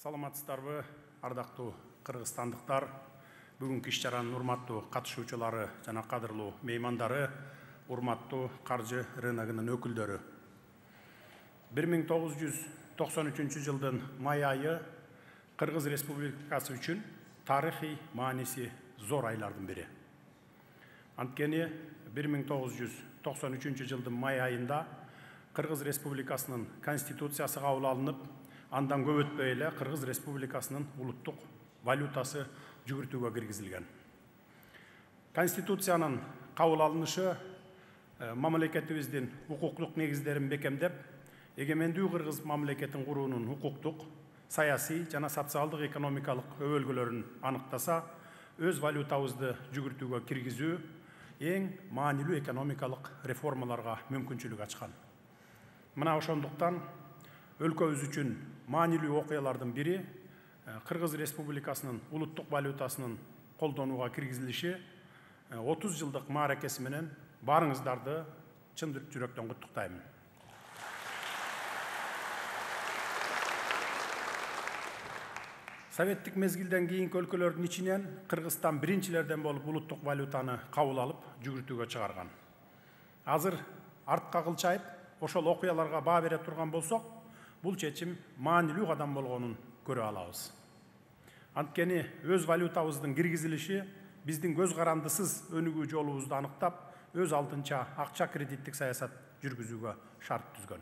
Саламатсыздарбы, ардактуу кыргызстандыктар, бүгүнкү иш-чаранын урматтуу катышуучулары жана кадырлуу меймандары, урматтуу каржы рыногунун өкүлдөрү. 1993 жылдын май айы Кыргыз Республикасы үчүн тарыхый мааниси зор айлардын бири. Анткени 1993 жылдын май айында Кыргыз Республикасынын Конституциясы кабыл алынып, андан көп өтпөй эле Кыргыз Республикасынын улуттук валютасы жүгүртүүгө киргизилген. Конституциянын кабыл алынышы мамлекетибиздин укуктук негиздерин бекемдеп, эгемендүү Кыргыз мамлекетин куруунун укуктук, саясий жана социалдык экономикалык өбөлгөлөрүн аныктаса, өз валютабызды жүгүртүүгө киргизүү эң маанилүү экономикалык реформаларга мүмкүнчүлүк ачкан. Мына ошондуктан өлкөбүз үчүн маанилүү окуялардын бири Кыргыз Республикасынын улуттук валютасынын колдонууга киргизилиши 30 жылдык мааракеси менен баарыңыздарды чын жүрөктөн куттуктайм. Советтик мезгилден кийинки өлкөлөрдүн ичинен Кыргызстан биринчилерден болуп улуттук валютаны кабыл алып, жүгүртүүгө чыгарган. Азыр артка кылчайып, ошол окуяларга баа бере турган болсок, бул чечим маанилүү кадам болгонун көрө алабыз. Анткени өз валютабыздын киргизилиши биздин көз карандысыз өнүгүү жолубузду аныктап, өз алдынча акча кредиттик саясат жүргүзүүгө шарт түзгөн.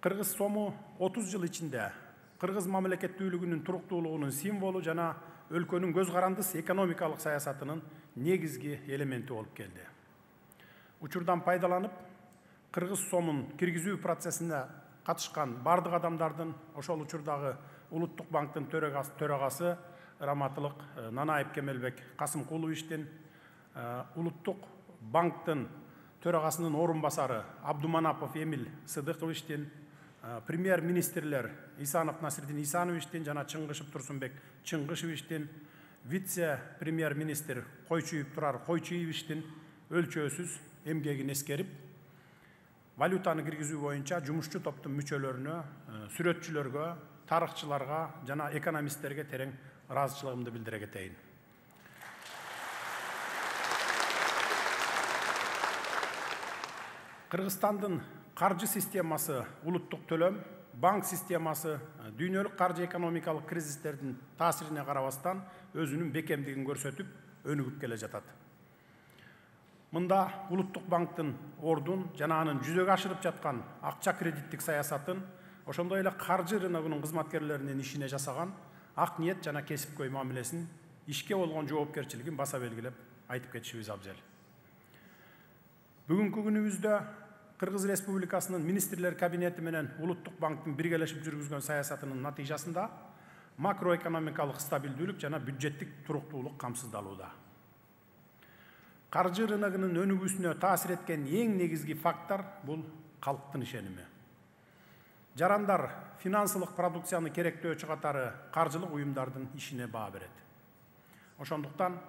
Кыргыз сому 30 жыл ичинде Кыргыз мамлекеттүүлүгүнүн туруктуулугунун символу жана өлкөнүн көз карандыс экономикалык саясатынын негизги элементи болуп келди. Учурдан пайдаланып, Кыргыз сомун киргизүү процессине катышкан бардык адамдардын, ошол учурдагы Улуттук банктын төрагасы Раматылык Нанаев Кемелбек Касымкуловичтин, Улуттук банктын төрагасынын орун басары Абдуманапов Эмиль Сыдыковичтин, премьер-министрлер Исанов Насирдин Исановичтин жана Чыңгышев Турсунбек Чыңгышевичтин, вице-премьер-министр Койчуев Турар Койчуевичтин өлчөөсүз эмгегин эскерип, валютаны киргизүү боюнча жумушчу топтун мүчөлөрүнө, сүрөтчүлөргө, тарыхчыларга жана экономисттерге терең ыраазычылыгымды билдире кетейин. Кыргызстандын каржы системасы, улуттук төлөм, банк системасы дүйнөлүк каржы экономикалык кризистердин таасирине карабастан өзүнүн бекемдигин көрсөтүп, өнүгүп келе жатат. Мында Улуттук банктын ордун жана анын жүзөгө ашырып жаткан акча кредиттик саясатын, ошондой эле каржы рыногунун кызматкерлеринин ишине жасаган ак ниет жана кесипкөй мамилесин, ишке болгон жоопкерчилигин баса белгилеп айтып кетишибиз абзел. Бүгүнкү күнүбүздө Кыргыз Республикасынын министрлер кабинети менен Улуттук банктын биргелешип жүргүзгөн саясатынын натыйжасында макроэкономикалык стабилдүүлүк жана бюджеттик туруктуулук камсыздалууда. Каржы рыногунун өнүгүүсүнө таасир эткен эң негизги фактор бул калктын ишеними. Жарандар финансылык продукцияны керектөөчү катары каржылык уюмдардын ишине баа берет. Ошондуктан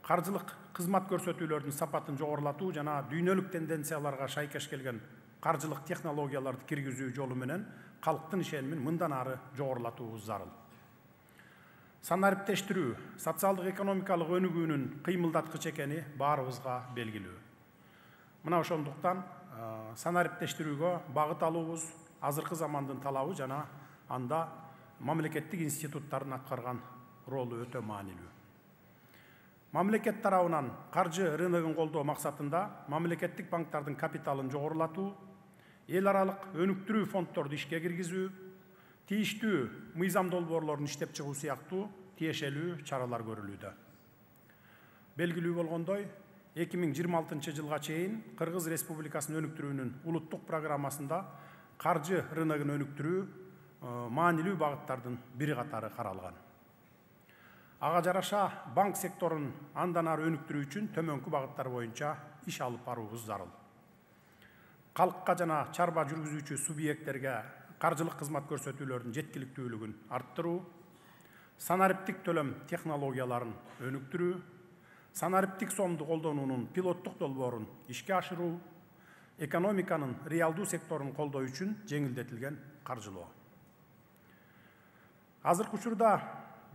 каржылык кызмат көрсөтүүлөрдүн сапатын жогорулатуу жана дүйнөлүк тенденцияларга шайкеш келген каржылык технологияларды киргизүү жолу менен калктын ишенимин мындан ары жогорулатуубуз зарыл. Санариптештирүү, социалдык экономикалык өнүгүүнүн кыймылдаткычы экени баарыбызга белгилүү. Мына ошондуктан санариптештирүүгө багыт алуубуз азыркы замандын талабы жана анда мамлекеттик институттардын аткарган ролу өтө маанилүү. Мамлекет тарабынан каржы рыногун колдоо максатында мамлекеттик банктардын капиталын жогорулатуу, эл аралык өнүктүрүү фонддорду ишке киргизүү, тийиштүү мыйзам долбоорлорун иштеп чыгуу сыяктуу тиешелүү чаралар көрүлүүдө. Белгилүү болгондой, 2026 жылга чейин Кыргыз Республикасын өнүктүрүүнүн улуттук программасында каржы рыногун өнүктүрүү маанилүү багыттардын бири катары каралган. Ага жараша банк секторун андан ары өнүктүрүү үчүн төмөнкү багыттар боюнча иш алып баруубуз зарыл. Калкка жана чарба жүргүзүүчү субъекттерге каржылык кызмат көрсөтүүлөрдүн жеткиликтүүлүгүн арттыруу, санариптик төлөм технологияларын өнүктүрүү, санариптик сомду колдонуунун пилоттук долбоорун ишке ашыруу, экономиканын реалдуу секторун колдоо үчүн жеңилдетилген каржылоо. Азыркы учурда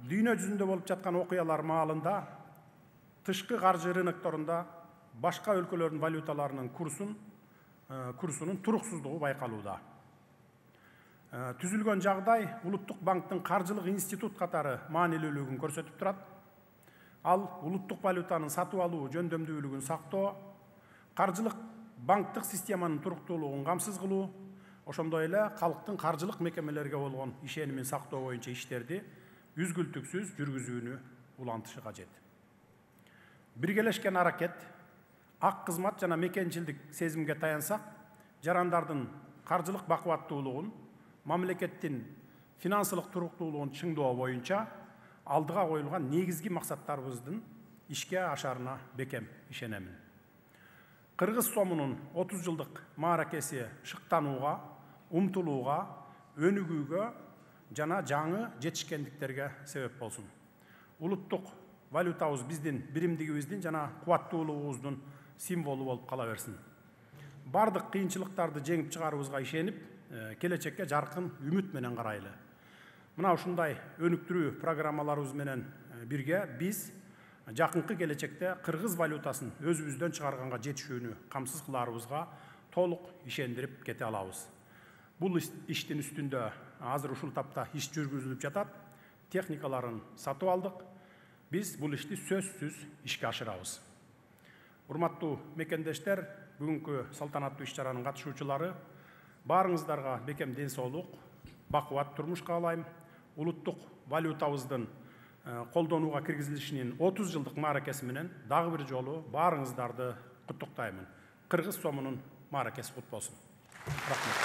дүйнө жүзүндө болуп жаткан окуялар маалында тышкы каржы рынокторунда башка өлкөлөрдүн валюталарынын курсунун туруксуздугу байкалууда. Түзүлгөн жагдай Улуттук банктын каржылык институт катары маанилүүлүгүн көрсөтүп турат. Ал улуттук валютанын сатып алуу жөндөмдүүлүгүн сактоо, каржылык банктык системанын туруктуулугун камсыз кылуу, ошондой эле калктын каржылык мекемелерге болгон ишенимин сактоо боюнча иштерди үзгүлтүксүз жүргүзүүнү улантышы кажет. Биргелешкен аракет, ак кызмат жана мекенчилдик сезимге таянсак, жарандардын каржылык бакубаттуулугун, мамлекеттин финансылык туруктуулугун чыңдоо боюнча алдыга коюлган негизги максаттарыбыздын ишке ашарына бекем ишенемин. Кыргыз сомунун 30 жылдык мааракеси шыктанууга, умтулууга, өнүгүүгө жана жаңы жетишкендиктерге себеп болсун. Улуттук валютабыз биздин биримдигибиздин жана кубаттуулугубуздун символу болуп кала берсин. Бардык кыйынчылыктарды жеңип чыгарыбызга ишенип, келечекке жаркын үмүт менен карайлы. Мына ушундай өнүктүрүү программаларыбыз менен бирге биз жакынкы келечекте кыргыз валютасын өзүбүздөн чыгарганга жетишүүнү камсыз кылаарыбызга толук ишендирип кете алабыз. Бул иштин үстүндө азыр ушул тапта иш жүргүзүлүп жатат. Техникаларын сатып алдык. Биз бул ишти сөзсүз ишке ашырабыз. Урматтуу мекендештер, бүгүнкү салтанаттуу иш-чаранын катышуучулары, баарыңыздарга бекем ден соолук, бакубат турмуш каалайм. Улуттук валютабыздын колдонууга киргизилишинин 30 жылдык мааракеси менен дагы бир жолу баарыңыздарды куттуктаймын. Кыргыз сомунун мааракеси кут болсун. Рахмат.